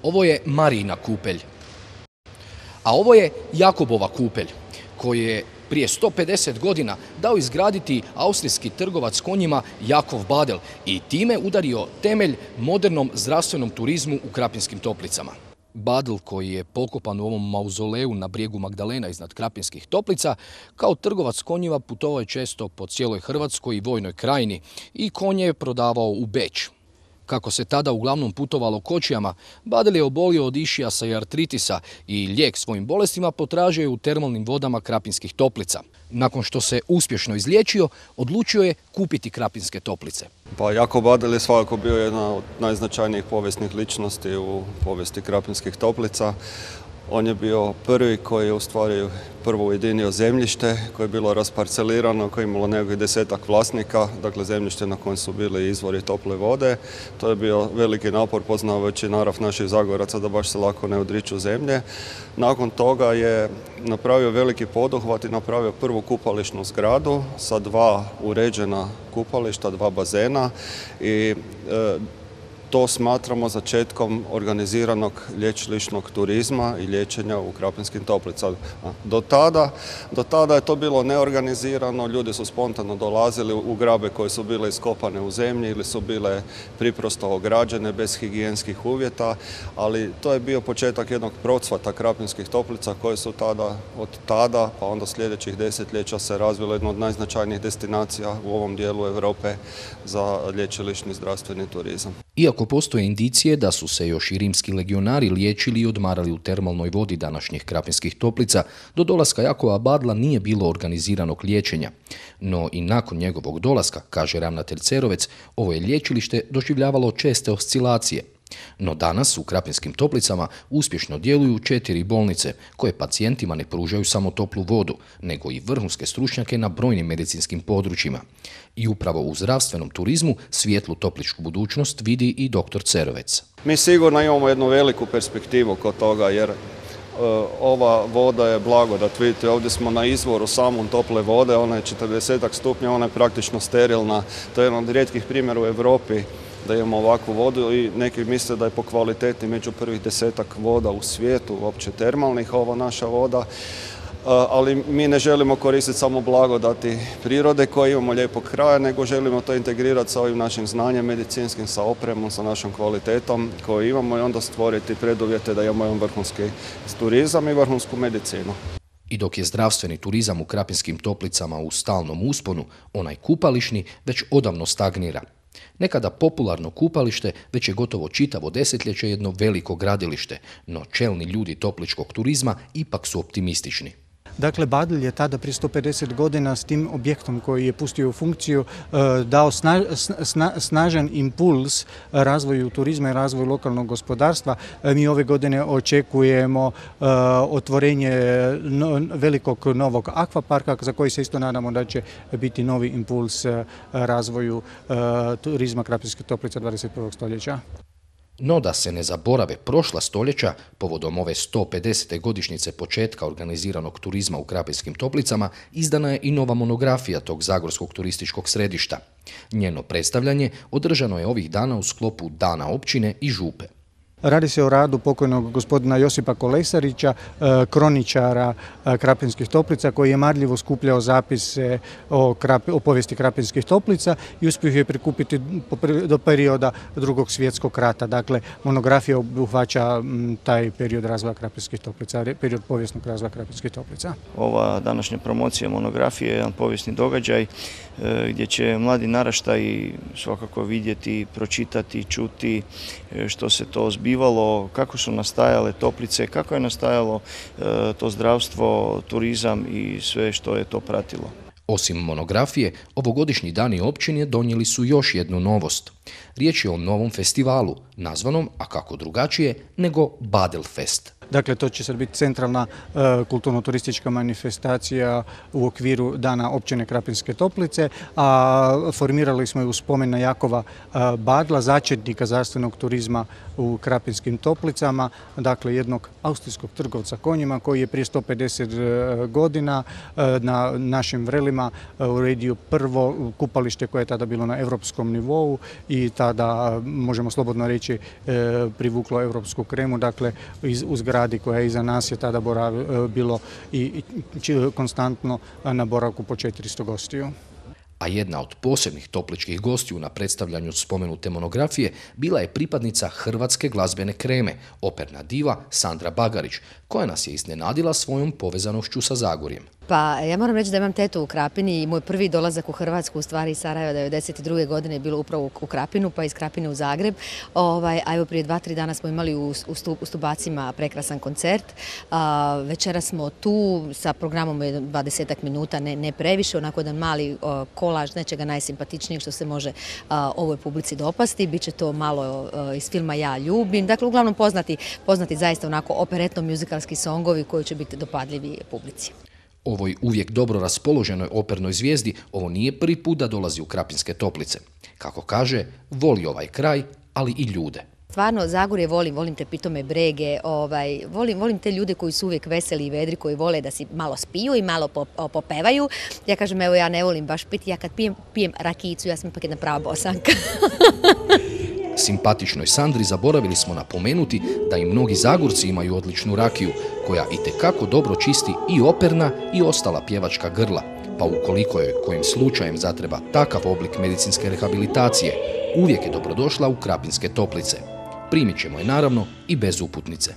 Ovo je Marijina kupelj. A ovo je Jakobova kupelj, koju je prije 150 godina dao izgraditi austrijski trgovac konjima Jakov Badel i time udario temelj modernom zdravstvenom turizmu u Krapinskim Toplicama. Badel, koji je pokopan u ovom mauzoleju na brijegu Magdalena iznad Krapinskih Toplica, kao trgovac konjima putovao je često po cijeloj Hrvatskoj i Vojnoj krajini i konje je prodavao u Beč. Kako se tada uglavnom putovalo kočijama, Badel je obolio od išijasa i artritisa i lijek svojim bolestima potražio je u termalnim vodama Krapinskih Toplica. Nakon što se uspješno izliječio, odlučio je kupiti Krapinske Toplice. Pa Jakov Badel je svakako bio jedna od najznačajnijih povijesnih ličnosti u povijesti Krapinskih Toplica. On je bio prvi koji je u stvari prvo ujedinio zemljište koje je bilo rasparcelirano, koje je imalo nekih 10-ak vlasnika, dakle zemljište na kojem su bili izvori tople vode. To je bio veliki napor poznavajući narav naših Zagoraca da baš se lako ne odriču zemlje. Nakon toga je napravio veliki poduhvat i napravio prvu kupališnu zgradu sa 2 uređena kupališta, 2 bazena i to smatramo začetkom organiziranog lječilišnog turizma i liječenja u Krapinskim Toplicama. Do tada je to bilo neorganizirano, ljudi su spontano dolazili u grabe koje su bile iskopane u zemlji ili su bile priprosto ograđene bez higijenskih uvjeta, ali to je bio početak jednog procvata Krapinskih Toplica koje su od tada pa onda sljedećih desetljeća se razvilo jedno od najznačajnijih destinacija u ovom dijelu Europe za lječilišni zdravstveni turizam. Iako postoje indicije da su se još i rimski legionari liječili i odmarali u termalnoj vodi današnjih Krapinskih Toplica, do dolaska Jakova Badla nije bilo organiziranog liječenja. No i nakon njegovog dolaska, kaže ravnatelj Cerovec, ovo je lječilište doživljavalo česte oscilacije. No danas u Krapinskim Toplicama uspješno djeluju 4 bolnice koje pacijentima ne pružaju samo toplu vodu, nego i vrhunske stručnjake na brojnim medicinskim područjima. I upravo u zdravstvenom turizmu svijetlu topličku budućnost vidi i dr. Cerovec. Mi sigurno imamo jednu veliku perspektivu kod toga jer ova voda je blagodat. Vidite, ovdje smo na izvoru samom tople vode, ona je 40 stupnja, ona je praktično sterilna. To je jedan od rijetkih primjera u Europi da imamo ovakvu vodu i neki misle da je po kvaliteti među prvih 10-ak voda u svijetu, uopće termalnih, ova naša voda. Ali mi ne želimo koristiti samo blagodati prirode koje imamo lijepog kraja, nego želimo to integrirati sa ovim našim znanjem medicinskim, sa opremom, sa našom kvalitetom koju imamo i onda stvoriti preduvjete da imamo jedan vrhunski turizam i vrhunsku medicinu. I dok je zdravstveni turizam u Krapinskim Toplicama u stalnom usponu, onaj kupališni već odavno stagnira. Nekada popularno kupalište već je gotovo čitavo desetljeće jedno veliko gradilište, no čelni ljudi topličkog turizma ipak su optimistični. Dakle, Badel je tada prije 150 godina s tim objektom koji je pustio u funkciju dao snažan impuls razvoju turizma i razvoju lokalnog gospodarstva. Mi ove godine očekujemo otvorenje velikog novog akvaparka za koji se isto nadamo da će biti novi impuls razvoju turizma Krapinskih Toplica 21. stoljeća. No da se ne zaborave prošla stoljeća, povodom ove 150. godišnjice početka organiziranog turizma u Krapinskim Toplicama, izdana je i nova monografija tog zagorskog turističkog središta. Njeno predstavljanje održano je ovih dana u sklopu Dana općine i župe. Radi se o radu pokojnog gospodina Josipa Kolesarića, kroničara Krapinskih Toplica, koji je marljivo skupljao zapise o povijesti Krapinskih Toplica i uspio je prikupiti do perioda Drugog svjetskog rata. Dakle, monografija obuhvaća taj period razvoja Krapinskih Toplica, period povijesnog razvoja Krapinskih Toplica. Ova današnja promocija monografije je jedan povijesni događaj gdje će mladi naraštaji svakako vidjeti, pročitati, čuti što se to zbivalo, kako su nastajale Toplice, kako je nastajalo to zdravstvo, turizam i sve što je to pratilo. Osim monografije, ovogodišnji dani općine donijeli su još jednu novost. Riječ je o novom festivalu, nazvanom, a kako drugačije, nego Badel Fest. Dakle, to će sad biti centralna kulturno-turistička manifestacija u okviru Dana općine Krapinske Toplice, a formirali smo je u spomen na Jakova Badla, začetnika zdravstvenog turizma u Krapinskim Toplicama, dakle jednog austrijskog trgovca konjima koji je prije 150 godina na našim vrelima uredio prvo kupalište koje je tada bilo na europskom nivou i tada, možemo slobodno reći, privuklo europsku kremu, dakle u zgradi koja je iza nas je tada bilo i konstantno na boravku po 400 gostiju. A jedna od posebnih topličkih gostiju na predstavljanju spomenute monografije bila je pripadnica hrvatske glazbene kreme, operna diva Sandra Bagarić, koja nas je iznenadila svojom povezanošću sa Zagorjem. Pa ja moram reći da imam tetu u Krapini i moj prvi dolazak u Hrvatsku, u stvari iz Sarajeva 1992. godine je bilo upravo u Krapinu, pa iz Krapine u Zagreb. A evo prije 2-3 dana smo imali u Stubacima prekrasan koncert. Večera smo tu sa programom 20 minuta, ne previše, onako jedan mali kolaž nečega najsimpatičnijeg što se može ovoj publici dopasti. Biće to malo iz filma Ja ljubim. Dakle, uglavnom poznati zaista onako operetno-muzikalski songovi koji će biti dopadljivi publici. Ovoj uvijek dobro raspoloženoj opernoj zvijezdi ovo nije prvi put da dolazi u Krapinske Toplice. Kako kaže, voli ovaj kraj, ali i ljude. Stvarno, Zagorje volim te pitome brege, volim te ljude koji su uvijek veseli i vedri, koji vole da si malo spiju i malo popevaju. Ja kažem, evo ja ne volim baš piti, ja kad pijem rakijicu, ja sam ipak jedna prava Bosanka. Simpatičnoj Sandri zaboravili smo napomenuti da i mnogi Zagorci imaju odličnu rakiju, koja itekako dobro čisti i operna i ostala pjevačka grla, pa ukoliko joj kojim slučajem zatreba takav oblik medicinske rehabilitacije, uvijek je dobrodošla u Krapinske Toplice. Primit ćemo je naravno i bez uputnice.